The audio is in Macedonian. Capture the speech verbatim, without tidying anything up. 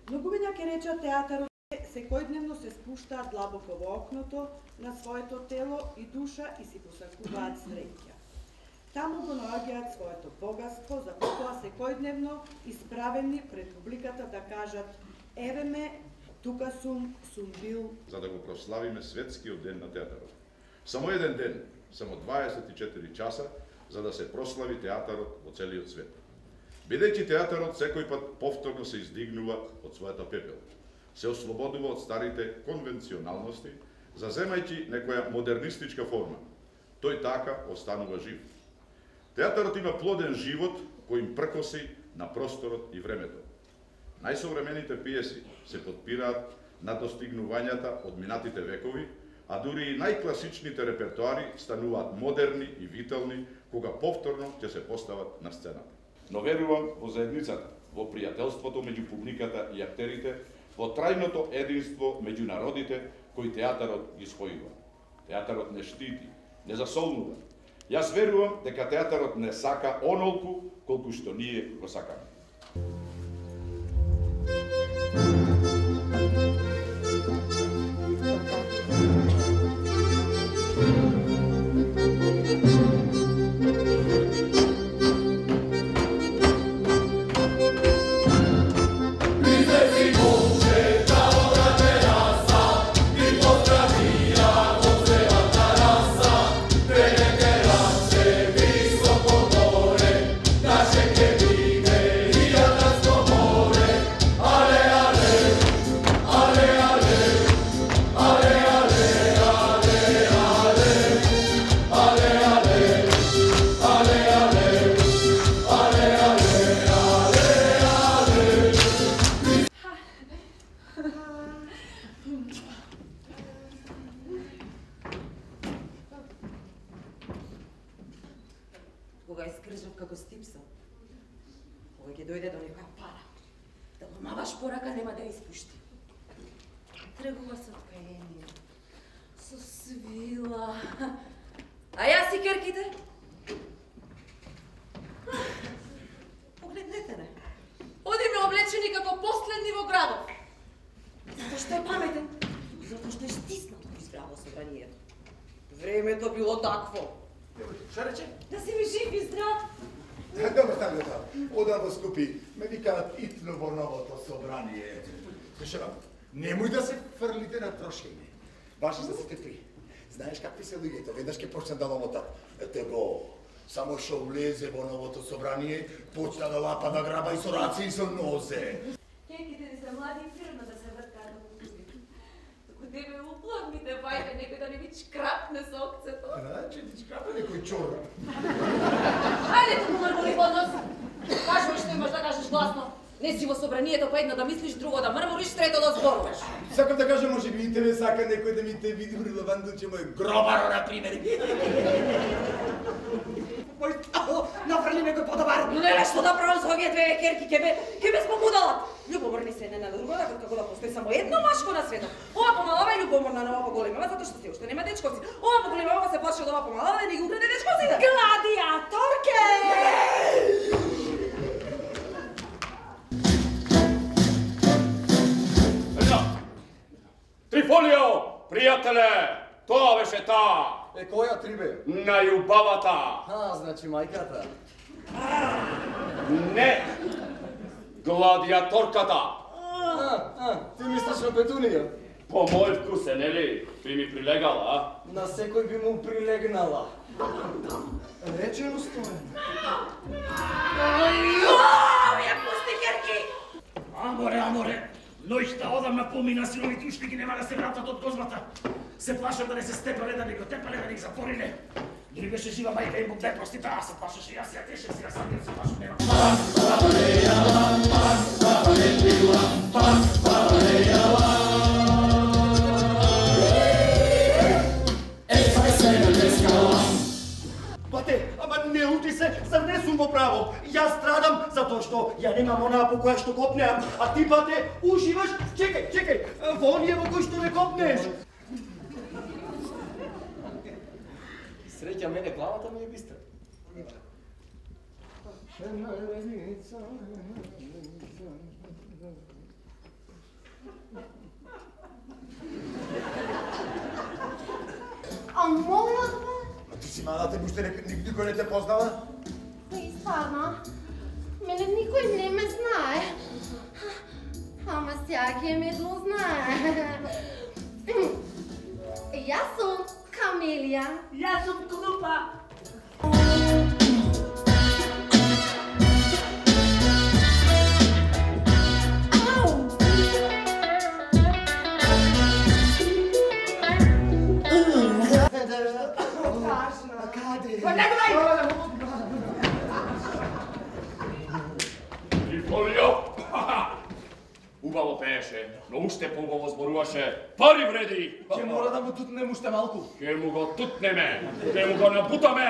Многумиња ќе речат театарот секојдневно се спуштаат длабоко во окното на своето тело и душа и си посакуваат среќа. Таму го наоѓаат своето богатство, за потоа секојдневно исправени пред публиката да кажат: еве ме, тука сум, сум бил. За да го прославиме светскиот ден на театарот. Само еден ден, само дваесет и четири часа, за да се прослави театарот во целиот свет. Бидејќи театарот секој пат повторно се издигнува од својата пепел, се ослободува од старите конвенционалности, заземајќи некоја модернистичка форма. Тој така останува жив. Театарот има плоден живот кој им пркоси на просторот и времето. Најсовремените пиеси се подпираат на достигнувањата од минатите векови, а дури и најкласичните репертоари стануваат модерни и витални кога повторно ќе се постават на сцената. Но верувам во заедницата, во пријателството меѓу публиката и актерите, во трајното единство меѓу народите кои театарот ги спојува. Театарот не штити, не засолнува. Јас верувам дека театарот не сака онолку колку што ние го сакаме. Кога искржав како стипсал, кога ќе дојде до некоја пара, да го маваш порака нема да испушти. Тргува со откаение, со свила. А јас и керките? Погледнете не. Одиме облечени како последни во градот. Затоа што е паметен, затоа што е стиснат кој избраво собранието. Времето било такво. Што рече? Да си ми жив и здрав. Добро, така да. Одаво скупи, ме викаат итно во новото собрание. Слушам, немој да се фрлите на трошење. Баш за сите при. Знаеш какви се луѓето, веднаш ќе почне да ломотат. Ете го, само што влезе во новото собрание, почна да лапа, да граба и со раце и со нозе. Кеките ни се млади и природно да се врткаат во кузи. Току тебе уплавните вајде некој да не ви чкрапне со окцето. Значи ти чкрапне некој чорап. Ајде туку мрмури под нос. Кажуваш што имаш да кажеш гласно. Не си во собранието па едно да мислиш, друго да мрмуриш, трето да зборуваш. Сакам да кажам, може би и тебе сака некој да ми те види релевантно, че мој гробаро, например. Мој тао, нафрли некој подобар. Не, што да правам со овие две керки, ке ме, ке ме спомудалат. Љубоморни се не на друго, како да постои само едно машко на светот. Ова помалава е љубоморна, на ова поголемава, затоа што се уште нема дечковци. Ова поголемава се плаши од ова помалава да ни ги украде дечковците. Гладиаторке! Трифолио, пријателе, тоа беше таа. Е, која трибе? Најубавата. А, значи мајката. Не, гладиаторката. А, а, ти мислиш на Петунија? По мој вкус е, нели? Би ми прилегала, а? На секој би му прилегнала. Речено стоен. Ајо, ја пусти керки! Аморе, аморе, ноќта одамна помина, синовите уште ги нема да се вратат од козмата. Се плашам да не се степале, да не го тепале, да не ги затвориле. Дори беше жива мајка им бе прости, таа се плашеше, јас ја тешев, сега сам ја се плашам, нема. Бате, ама не лути се, зар не сум во право? Јас страдам затоа што ја немам онаа по која што копнеам, а ти, бате, уживаш, чекај, чекај, во оние во кои што не копнеш. Среќа, мене главата ми е бистра. А мојот бе? Ма ти си мала, те уште никој не те познава? И стварно, мене никој не ме знае. Ама сега ќе ме дознае. Јас сум Камелија. Јас сум Кнупа. Триполио! Убаво пееше, но уште поубаво зборуваше. Пари вреди! Ќе мора да му тутнем уште малку. Ќе му го тутнеме, ќе му го набутаме.